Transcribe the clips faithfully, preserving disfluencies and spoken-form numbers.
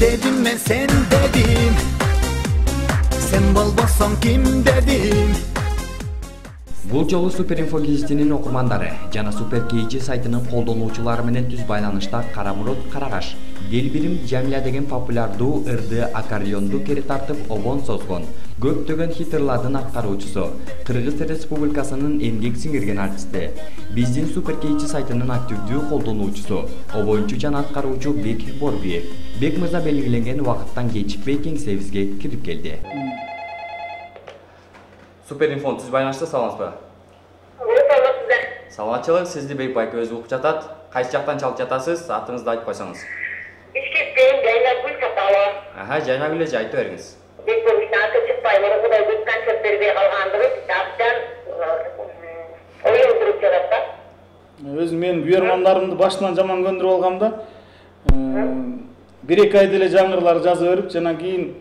dedim men sen dedim, sen болбосоң ким dedim. Бул жолу Суперинфо гезитинин окурмандары жана Супер кей жи сайтынын колдонуучулары менен түз байланышта Карамурод Карагаш Делбирим Жамиля деген популярдуу ырды аккордеонду кери тартып обон созгон. Көптөгөн хиттерлардын аткаруучусу, Кыргыз Республикасынын эмгек сиңирген артисти, биздин Супер кей жи сайтынын активдүү колдонуучусу, обоюнчу жана аткаруучу Бек Борбиев. Бек мырза белгиленген убакыттан кечикпей кеңсебизге кирип келди. Суперинфо түз байланышта саламатсызбы? Саламатчылык, сизди Бек байке өзү угуп жатат. Кайсы жактан чалып жатасыз? Атыңызды айтып койсоңуз. Бишкектен Жайнагүл саталы. Аха, Жайнагүл эже айтып бериңиз. Бек болуштан аты чыкпай, муну Кудай көп концерт бербей калгандыгы таптан оюн туруп жатат да. Өзүм мен буйрмандарымды башынан жаман көндүрүп алгам да. бир эки айда эле жаңырлар жаза берип, жана кийин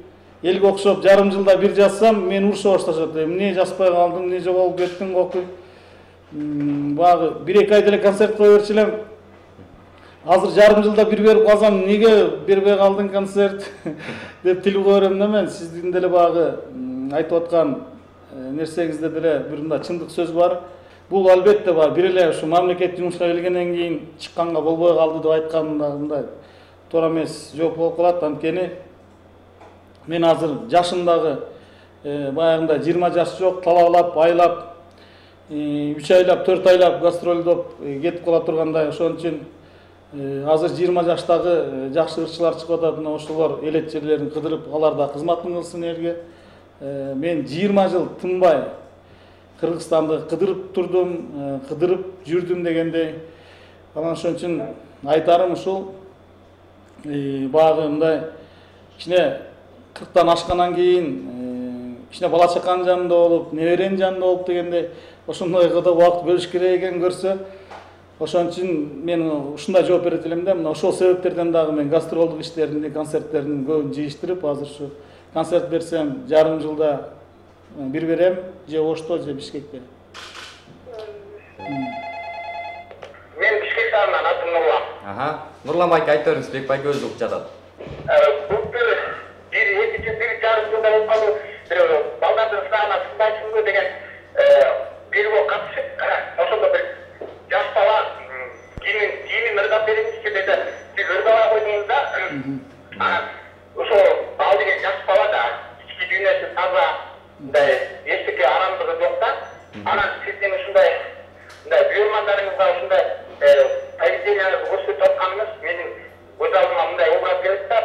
элге окшоп жарым жылда бир жазсам, мен урушо башташат. Эмне жазбай калдым, эмне жоголуп кеттиң окуй. Багы бир эки айда эле концерт кое берчү элем. Азыр жарым жылда бир берип калсам, эмнеге бербей калдың концерт деп тил кое берем да мен. Сиздин деле багы айтып аткан нерсеңизде деле бир мындай чындык сөз бар. Бул албетте бар. Бир эле ушу мамлекет жумушка келгенден кийин чыкканга болбой калды деп айтканда мындай туура эмес жооп болуп калат. Анткени мен азыр жашымдагы баягындай жыйырма жаш жок, талаалап, айлап, үч айлап, төрт айлап гастролдоп кетип кала тургандай. Ошон үчүн азыр жыйырма жаштагы жакшы ырчылар чыгып атат, мына ошолор элет жерлерин кыдырып, алар да кызматын кылсын элге. Мен жыйырма жыл тынбай Кыргызстанды кыдырып турдум, кыдырып жүрдүм дегендей. Анан ошон үчүн айтарым ушул, багы мындай кичине кырктан ашкандан кийин кичине бала чаканын жанында болуп, неберенин жанында болуп дегендей, ошондойго да убакыт бөлүш керек экен көрсө. Ошон үчүн мен ушундай жооп берет элем да. Мына ошол себептерден дагы мен гастролдук иштеримди, концерттердин көбүн жыйыштырып, азыр ушу концерт берсем жарым жылда бир берем, же Ошто, же Бишкекте. Мен Бишкек шаарынан, атым Нурлан. Аха, Нурлан байке айтып бериңиз, Бек байке өзү угуп жатат. Бул бир бир эки жыл, бир жарым жылда болуп калды. Бир балдардын сынагына сындайсыңбы деген бирөө катышып, ошондо бир жаш бала кийимин кийимин ырдап бериңизчи деди. Сиз ырдабай койдуңуз да. Анан ошо ал деген жаш бала да ички дүйнөсү таза, мындай эчтеке арамдыгы жок да. Анан сиздин ушундай мындай буйрмандарыңызга ушундай поведенияңызды көрсөтүп атканыңыз менин көз алдыма мындай образ келет да.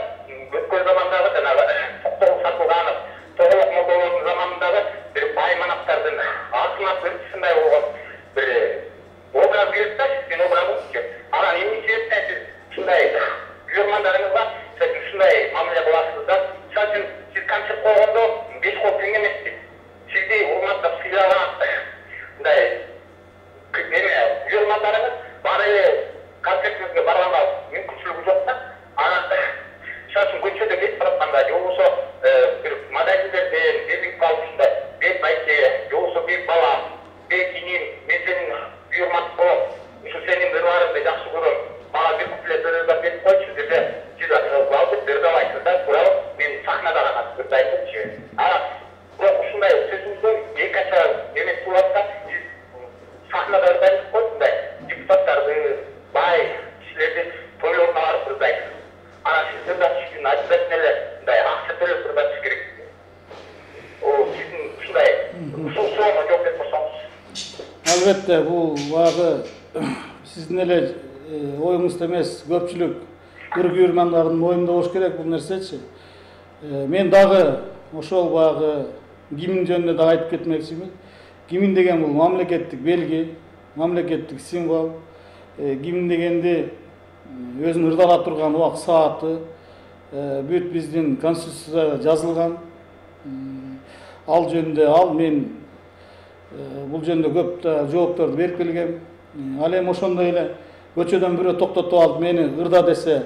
Өткөн замандагы жанагы Токтогул Сатылганов, Тоголок молдолордун заманындагы бир бай манаптардын атына ырчысындай болгон бир образ келет да, сиздин образыңызчы. Анан эмне себептен сиз ушундай буйрмандарыңызга ушундай мамиле кыласыз да? Мисалы үчүн сиз концерт койгондо беш кол тең эмес. Сизди урматтап сыйлаган мындай эме буйрмандарыңыз бар эле концертиңизге барганга мүмкүнчүлүгү жок да. Анан мисалы үчүн көчөдө кетип баратканда же болбосо бир модельдерден белгилип калып ушундай Бек байке, же болбосо Бек балам, Бек иним, мен сенин буйрмаң болом, ушу сенин ырларыңды жакшы көрөм, мага бир куплет ырдап берип койчу десе, сиз алып ырдабайсыз да, туурабы? Мен сахнада гана ырдайсызчы. Анан бирок ушундай сөзүңүздөн эки ача эмес болот да, сиз сахнада ырдайсыз го, мындай депутаттарды, бай кишилерди тойлоруна барып ырдайсыз. Анан сиз ырдатыш үчүн обязательно эле мындай акча төлөп ырдатыш керек. О, сиздин ушундай ушул суроого жооп берип койсоңуз. Албетте, бул багы сиздин эле оюңузда эмес, көпчүлүк ыр буйрмандардын оюнда болуш керек бул нерсечи. Мен дагы ошол багы гимн жөнүндө да айтып кетмекчимин. Гимн деген бул мамлекеттик белги, мамлекеттик символ. Гимн дегенди өзүн ырдала турган убак сааты бүт биздин конституцияда жазылган. Ал жөнүндө ал мен бул жөнүндө көп жоопторду берип келгем. Ал эми ошондой эле көчөдөн бирөө токтотуп алып мени ырда десе,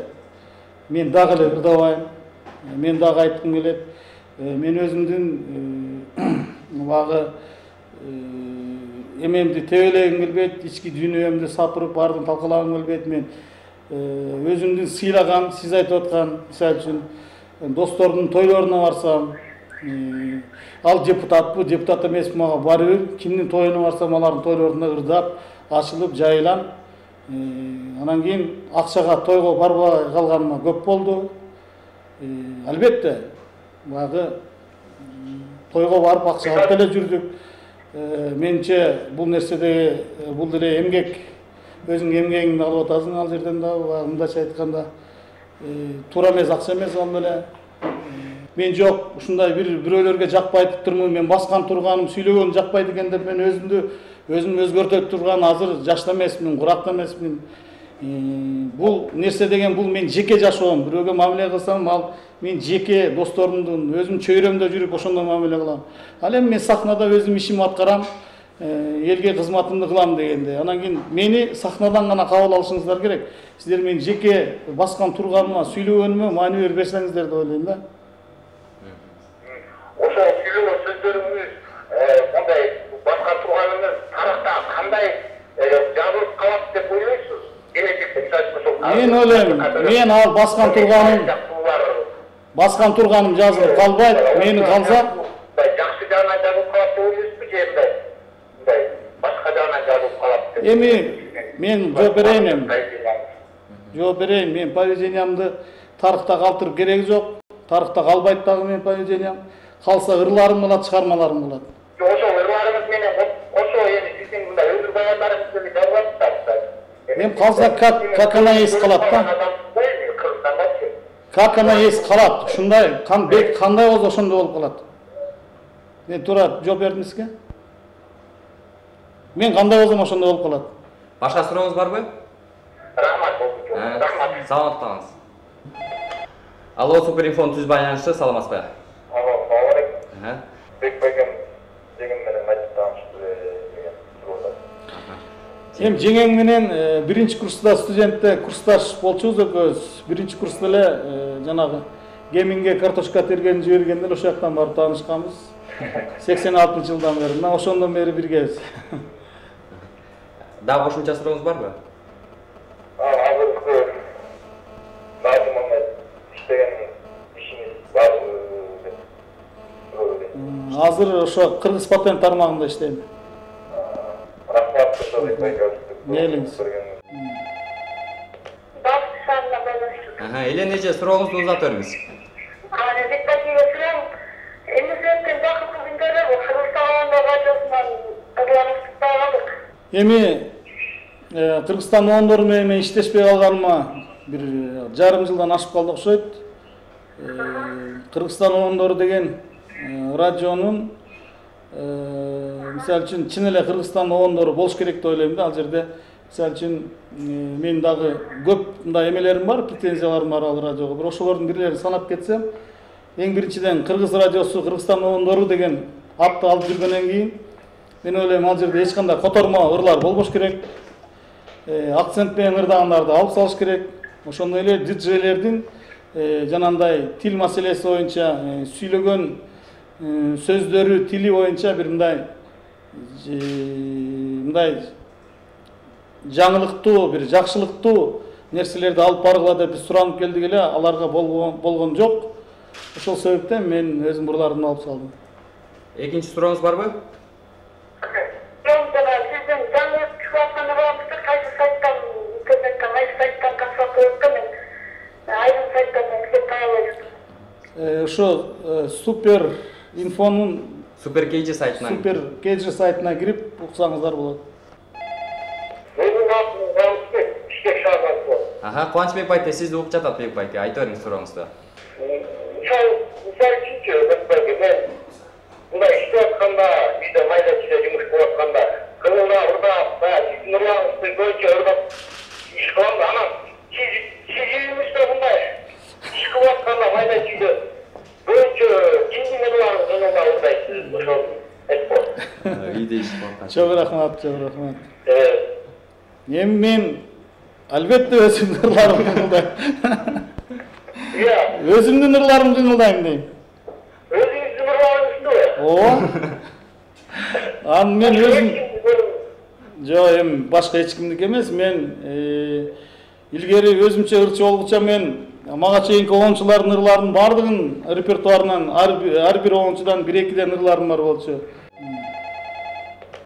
мен дагы эле ырдабайм. Мен дагы айткым келет. Мен өзүмдүн багы эмемди тебелегим келбейт, ички дүйнөмдү сапырып баардыгын талкалагым келбейт. Мен өзүмдү сыйлаган, сиз айтып аткан, мисалы үчүн достордун тойлоруна барсам, ал депутатпы, депутат эмеспи мага бары бир, кимдин тоюна барсам алардын тойлорунда ырдап, ачылып, жайылам. Анан кийин акчага тойго барбай калганыма көп болду. Албетте, баягы тойго барып акча алып деле жүрдүк. Менче бул нерседе бул деле эмгек, өзүңдүн эмгегиңди алып атасың ал жерден да, мындайча айтканда, туура эмес акча эмес ал деле. Мен жок, ушундай бир бирөөлөргө жакпайт турмун, мен баскан турганым, сүйлөгөнүм жакпайт экен деп мен өзүмдү өзүм өзгөртө турган азыр жашта эмесмин, куракта эмесмин. Бул нерсе деген бул мен жеке жашоом, бирөөгө мамиле кылсам, ал мен жеке досторумдун, өзүм чөйрөмдө жүрүп ошондой мамиле кылам. Ал эми мен сахнада өзүм ишимди аткарам, элге кызматымды кылам дегенде. Анан кийин мени сахнадан гана кабыл алышыңыздар керек. Сиздер мен жеке баскан турганыма, сүйлөгөнүмө маани бербесеңиздер деп ойлойм да. Ошо сүйлөгөн сөздөрүңүз, мындай баскан турганыңыз тарыхта кандай жазылып калат деп ойлойсуз? Мен ойлойм, мен ал баскан турганым баскан турганым жазылып калбайт, мени калса жакшы жагынан жазылып калат деп ойлойсузбу же мындай мындай башка жагынан жазылып калат деп? Эми мен жооп берейин эми. Жооп берейин, мен поведениямды тарыхта калтырып кереги жок. Тарыхта калбайт дагы менин поведениям. Калса ырларым болот, чыгармаларым болот. Ошо ырларыңыз менен ошо эми сиздин мындай өмүр баяндарыңыз менен жазылат да. Эми калса как как она есть калат да. Как она есть калат. Ушундай кандай болсо ошондой болуп калат. Мен туура жооп бердим сизге. Мен кандай болсом ошондой болуп калат. Башка сурооңуз барбы? Рахмат болду. Рахмат. Саламат калыңыз. Алло, Суперинфонун түз байланышы, саламатсызбы? Алло, салам алейкум. Бекбайгым деген менен айтып таанышты деген суроо. Эми жеңең менен биринчи курста студентте курсташ болчубуз экөөбүз. Биринчи курста эле жанагы геминге картошка терген жибергенде ошол жактан барып таанышканбыз. сексен алтынчы жылдан бери. Мына ошондон бери биргебиз. Дагы кошумча сурооңуз барбы? Азыркы Назымовна иштеген ишиңиз барбы деп суроо берейин. Азыр ошо Кыргыз патент тармагында иштейм. Рахмат ошо Бекбайга. Мейлиңиз. Бакшанна байланыштык. Аха, эле нече сурооңузду узата бериңиз. Аны Бекбайга сурам. Эми сенден бакытты күндөрдө Кыргызстан радиосунан кызганычта калдык. Эми Кыргызстан оондору менен иштешпей калганыма бир жарым жылдан ашып калды окшойт. Кыргызстан оондору деген радионун мисалы үчүн чын эле Кыргызстан оондору болуш керек деп ойлойм да. Ал жерде мисалы үчүн мен дагы көп мындай эмелерим бар, претензияларым бар ал радиого. Бирок ошолордун бирлерин санап кетсем, эң биринчиден Кыргыз радиосу Кыргызстан оондору деген атты алып жүргөндөн кийин мен ойлойм ал жерде эч кандай котормо ырлар болбош керек. Акцент менен ырдагандарды алып салыш керек. Ошондой эле диджейлердин жанагындай тил маселеси боюнча сүйлөгөн сөздөрү, тили боюнча бир мындай мындай жаңылыктуу, бир жакшылыктуу нерселерди алып баргыла деп биз суранып келдик эле, аларга болгон жок. Ошол себептен мен өзүм бурларымды алып салдым. Экинчи сурооңуз барбы? Ошо Супер Инфонун Супер Кейджи сайтына Супер Кейджи сайтына кирип уксаңыздар болот. Аха, Кубанычбек байке, сизди угуп жатат Бек байке, айта бериңиз сурооңузду. Мисалы үчүнчү Бек байке, мен мындай иштеп атканда, үйдө майда чүйдө жумуш кылып атканда, кылына ырдап, сиздин ырларыңызды көбүнчө ырдап иш кылам да, анан сиз үйүңүздө мындай иш кылып атканда майда чүйдө көбүнчө кимдин ырларын ырдап ырдайсыз? Ошол айтып Үйдө иш кылып. Чоң рахмат, чоң рахмат. Эми мен албетте өзүмдүн ырларымды ырдайм. Иә. Өзүмдүн ырларымды ырдайм дейм. Өзүңүздүн ырларыңызды? Ооба. Аны мен өзүм Жок, эми башка эч кимдики эмес, мен Илгери өзүмчө ырчы болгуча мен мага чейинки оончулардын ырларынын баардыгын репертуарынан ар бир оончудан бир экиден ырларым бар болчу.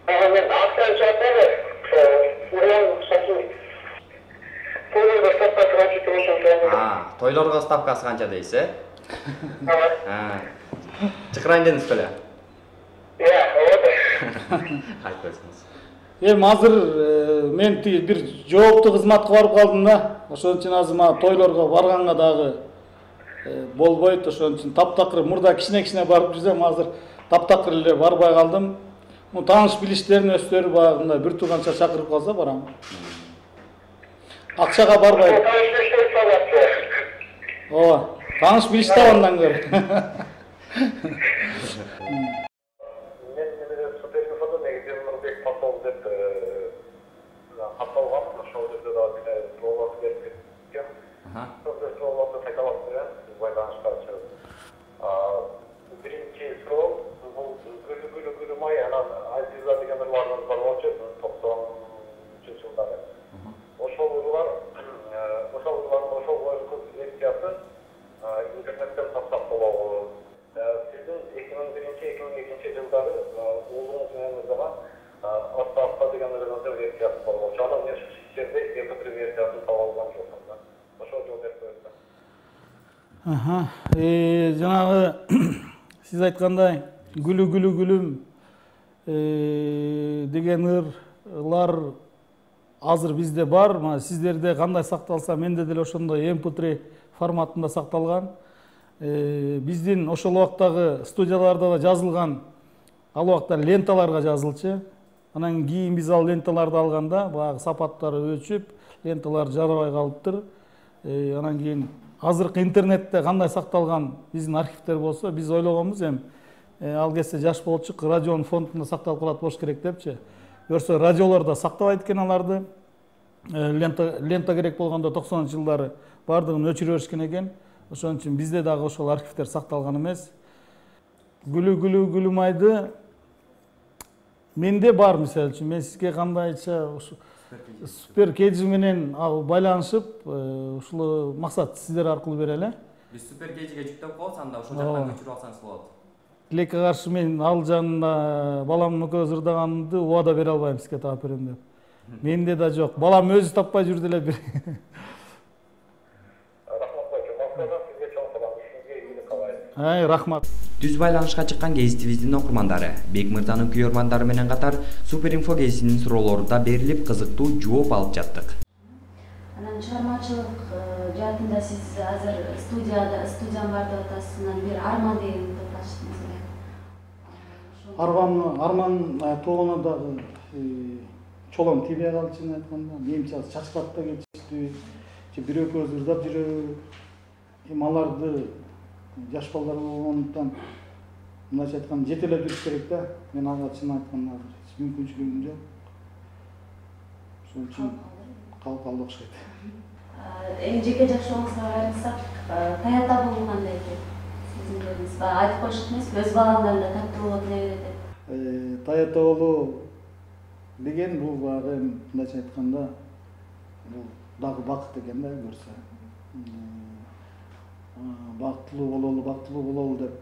Мен акчаны тойлорго ставкасы канча дейсиз, э? Чакырайын дедиңиз беле? Иә, ооба. Айтып берсеңиз. Эми азыр мен бир жооптуу кызматка барып калдым да. Ошон үчүн азыр мага тойлорго барганга дагы болбойт. Ошон үчүн таптакыр мурда кичине-кичине барып жүрсөм, азыр таптакыр эле барбай калдым. Му тааныш билиштерин өздөрү багында бир тууганча чакырып калса барам. Акчага барбайт. Ооба, тааныш билиш табандан көр. Аха, э жанагы сиз айткандай гүлү гүлү гүлүм э деген ырлар азыр бизде бар. Мына сиздерде кандай сакталса, менде деле ошондой эм пэ три форматында сакталган. Э биздин ошол убактагы студияларда да жазылган, ал убакта ленталарга жазылчу. Анан кийин биз ал ленталарды алганда баягы сапаттары өчүп, ленталар жарабай калыптыр. Э анан кийин азыркы интернетте кандай сакталган биздин архивдер болсо, биз ойлогонбуз эми ал кезде жаш болчук, радионун фондунда сакталып калат болуш керек депчи. Көрсө радиолордо сактабайт экен аларды. Лента лента керек болгондо токсонунчу жылдары бардыгын өчүрө беришкен экен. Ошон үчүн бизде дагы ошол архивдер сакталган эмес. Гүлү гүлү гүлүмайды менде бар, мисалы үчүн мен сизге кандайча супер кейджи менен байланышып, ушул максат сиздер аркылуу берели. Биз супер кейджиге жүктөп коебуз, анда ошол жактан көчүрүп алсаңыз болот. Тилекке каршы мен ал жанында баламдын экөөбүз ырдаганды убада бере албайм сизге таап берем деп. Менде да жок. Балам өзү таппай жүрдү эле бир. Ай, рахмат. Түз байланышка чыккан гезитибиздин окурмандары, Бек мырзанын күйөрмандары менен катар Супер инфо гезитинин суроолору да берилип, кызыктуу жооп алып жаттык. Анан чыгармачылык жаатында сиз азыр студияда, студиям бар деп атасыз, анан бир Арман деген топ ачтыңыз эле. Арман, Арман тоолоно дагы чолом тийбей калды, чын айтканда. Менимче чачкат да кетиштүү, же бир экөөбүз ырдап жүрөбү. Эми аларды жаш балдар болгондуктан мындайча айтканда жетелеп жүрүш керек да. Мен ага чын айтканда мүмкүнчүлүгүм жок. Ошон үчүн калып калды окшойт. Эми жеке жашооңузга кайрылсак, таята болуу кандай экен? Сиздин жериңиз баягы айтып коюшат эмес, өз баламдан да таттуу болот эле деп. Таята болуу деген бул баягы мындайча айтканда бул дагы бакыт экен да, көрсө. Бактылуу бололу, бактылуу бололу деп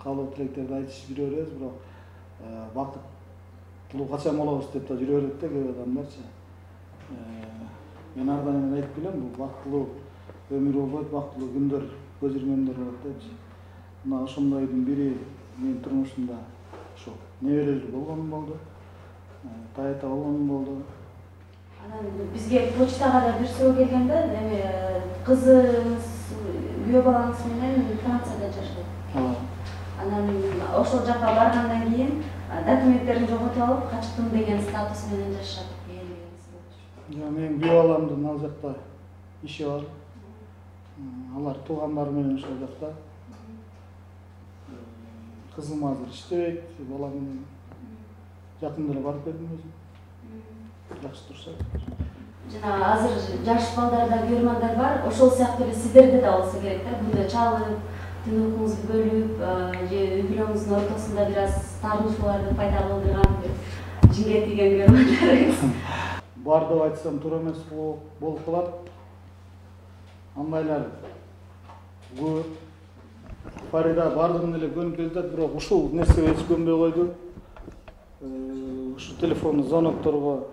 каалоо тилектерди айтышып жүрө беребиз, бирок бактылуу качан болобуз деп да жүрө берет да кээ бир адамдарчы. Мен ар дайым айтып келем, бул бактылуу өмүр болбойт, бактылуу күндөр, көз ирмемдер болот депчи. Мына ошондойдун бири менин турмушумда ошо неберелер болгонум болду. Таята болгонум болду. Анан бизге почтага да бир суроо келген да, эми кызыңыз, күйөө балаңыз менен Францияда жашайт. Ооба. Анан ошол жака баргандан кийин документтерин жоготуп алып, качтым деген статус менен жашап келгенсиз болчу. Жок, мен күйөө баламдын ал жакта иши бар. Алар туугандары менен ошол жакта. Кызым азыр иштебейт, балам менен жакында эле барып келдим өзүм. Жакшы турушат. Жана азыр жаш балдарда күйөрмандар бар, ошол сыяктуу эле сиздерде да болсо керек да, күндө чалып, түн уйкуңузду бөлүп, же үй бүлөңүздүн ортосунда бир аз таарынышууларды пайда кылдырган жинге тийген күйөрмандарыңыз. бар деп айтсам туура эмес болуп калат. Андайлар көп. Фарида бардыгын эле көнүп келатат, бирок ушул нерсеге эч көнбөй койду. Ушу телефон звонокторго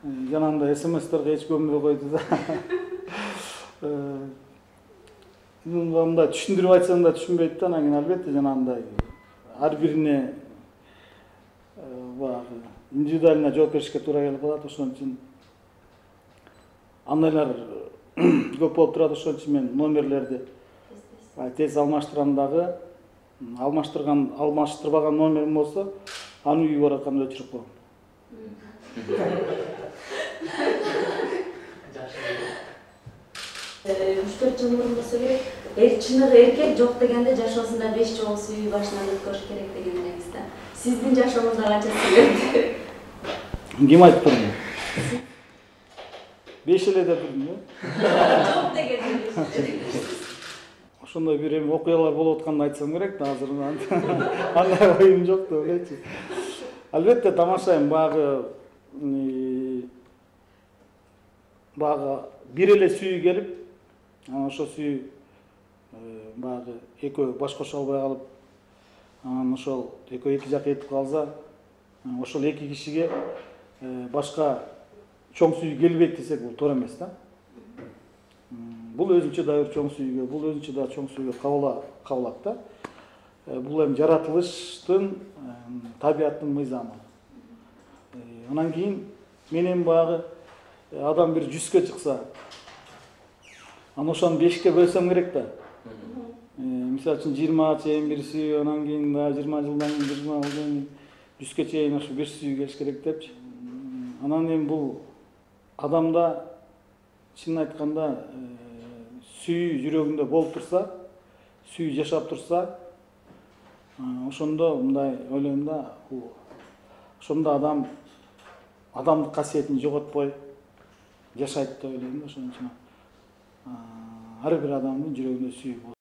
жанагындай смстерге эч көнбөй койду да. Мындай түшүндүрүп айтсам да түшүнбөйт да, анан кийин албетте жанагындай ар бирине баягы индивидуально жооп беришке туура келип калат. Ошон үчүн андайлар көп болуп турат. Ошон үчүн мен номерлерди тез алмаштырам дагы. Алмаштырган, алмаштырбаган номерим болсо, аны үйгө баратканда өчүрүп коем. үч төрт жыл мурун болсо керек, эр чыныгы эркек жок дегенде жашоосунда беш жолу сүйүү башынан өткөрүш керек деген элеңиз да. Сиздин жашооңузда канча сүйүү? Ким айтып турду? беш эле деп турдум да. Жок дегенде. Ошондой бир эми окуялар болуп атканды айтсам керек да, азыр андай оюм жок деп элечи. Албетте тамашайм, багы багы бир эле сүйүү келип, анан ошо сүйүү багы экөө баш кошо албай калып, анан ошол экөө эки жак этип калса, ошол эки кишиге башка чоң сүйүү келбейт десек бул туура эмес да. Бул өзүнчө да бир чоң сүйүүгө, бул өзүнчө да чоң сүйүүгө кабыла кабылат да. Бул эми жаратылыштын, табияттын мыйзамы. Анан кийин менен багы адам бир жүзгө чыкса, анан ошону бешке бөлсөм керек да. Мисалы үчүн жыйырмага чейин бир сүйүү, анан кийин да жыйырма жылдан кийин жыйырма жылдан кийин жүзгө чейин ошо беш сүйүү келиш керек депчи. Анан эми бул адамда чынын айтканда сүйүү жүрөгүндө болуп турса, сүйүү жашап турса, ошондо мындай ойлойм да, ошондо адам адамдык касиетин жоготпой жашайт деп ойлойм да. Ошон үчүн ар бир адамдын жүрөгүндө сүйүү